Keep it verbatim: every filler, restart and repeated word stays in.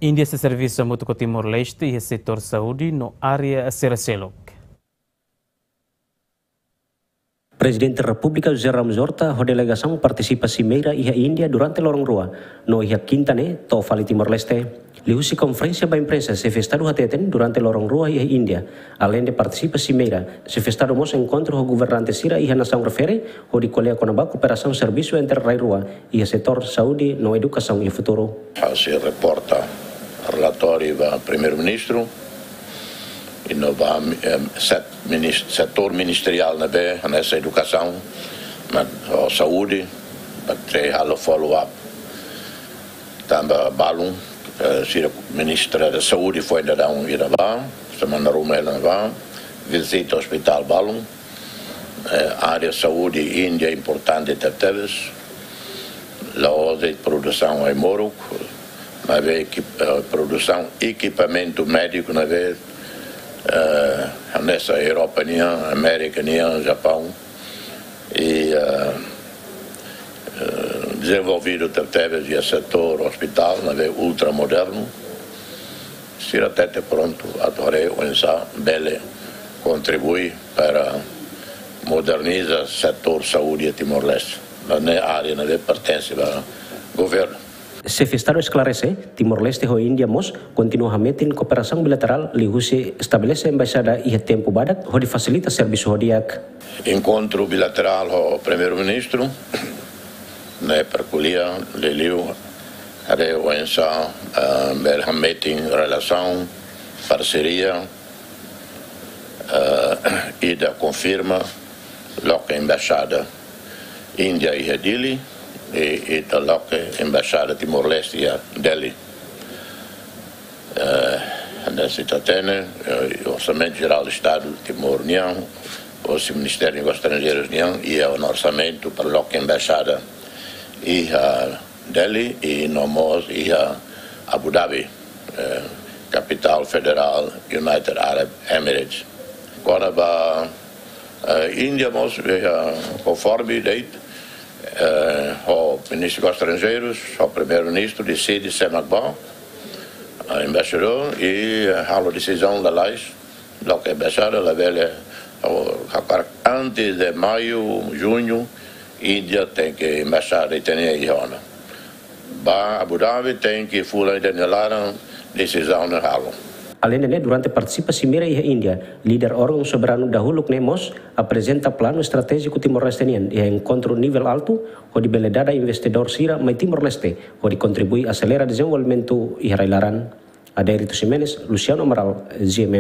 Índia sei servisu hamutuk ho Timor-Leste iha setór saúde no área sira seluk. Prezidente Repúblika José Ramos Horta ho delegasaun partisipa simeira iha Índia durante loron rua, no iha kinta ne'e to'o fali Timor-Leste. Liuhusi konferénsia ba imprensa, xefe Estadu hateten durante loron rua iha Índia, aleinde partisipa simeira, xefe Estadu mós enkontru ho governante sira iha nasaun refere, hodi ko'alia kona-ba kooperasaun servisu entre rai rua iha setór saúde no edukasaun iha futuru. Ha'u sei reporta relatóriu ba Primeiru-Ministru, i no ba, em, set-, minis-, setór ministeriál ne'ebé, hanesan edukasaun, no, ho saúde, ba tre halo follow up. Tanba balun, eh, sira Ministra da Saúde foin daudaun iha ne'ebá, semana ruma hela ne'ebá, vizita ospitál balun, eh, área saúde Índia importante tebetebes, la'ós de'it produsaun ai-moruk, maibé ekip-, eh, produsaun ekipamentu médiku ne'ebé, eh, hanesan Europa nian, Amérika nian, Japaun, i, eh, eh, dezenvolvidu tebetebes iha setór ospitál, ne'ebé ultramodernu, sira hatete prontu atu haree oinsá bele kontribui para moderniza setór saúde Timor-Leste. Ne'e área ne'ebé pertense ba governu. Xefe Estadu esklarese, Timor-Leste ho Índia mós kontinua hametin kooperasaun bilaterál liuhusi estabelese embaixada iha tempu badak hodi fasilita servisu ho di'ak. Enkontru bilaterál ho Primeiru-Ministru, ne'e para ko'alia, liuliu, haree oinsá, eh, bele hametin relasaun, parseria, eh, ida konfirma, loke embaixada Índia iha Dili, i, i ita loke embaixada Timor-Leste iha Delhi. Eh, hanesan ita hatene, eh, Orsamentu Jerál Estadu Timor nian, hosi Ministériu Negósius Estranjeirus nian, iha ona orsamentu para loke embaixada iha Delhi, i no mós iha Abu Dhabi, eh, kapitál federál United Arab Emirates. Kona-ba, eh, Índia mós, eh, konforme de'it, eh, ho Ministru Negósius Estranjeirus, ho Primeiru-Ministru deside sé mak bá, eh, embaixadór, i, eh, halo desizaun lalais, loke embaixada labele, oh, hakarak antes de maiu, juñu, Índia tenke embaixada ita-nia iha ona. Ba Abu Dhabi tenke fulan ida-nia laran desizaun ne'e halo. Aleinde ne'e, durante partisipa simeira iha Índia, líder órgaun soberanu dahuluk ne'e mós aprezenta planu estratéjiku Timor-Leste nian iha enkontru nivel altu, hodi bele dada investidór sira mai Timor-Leste, hodi kontribui aselera dezenvolvimentu iha rai laran. Adérito Ximenes, Luciano Amaral, G M N.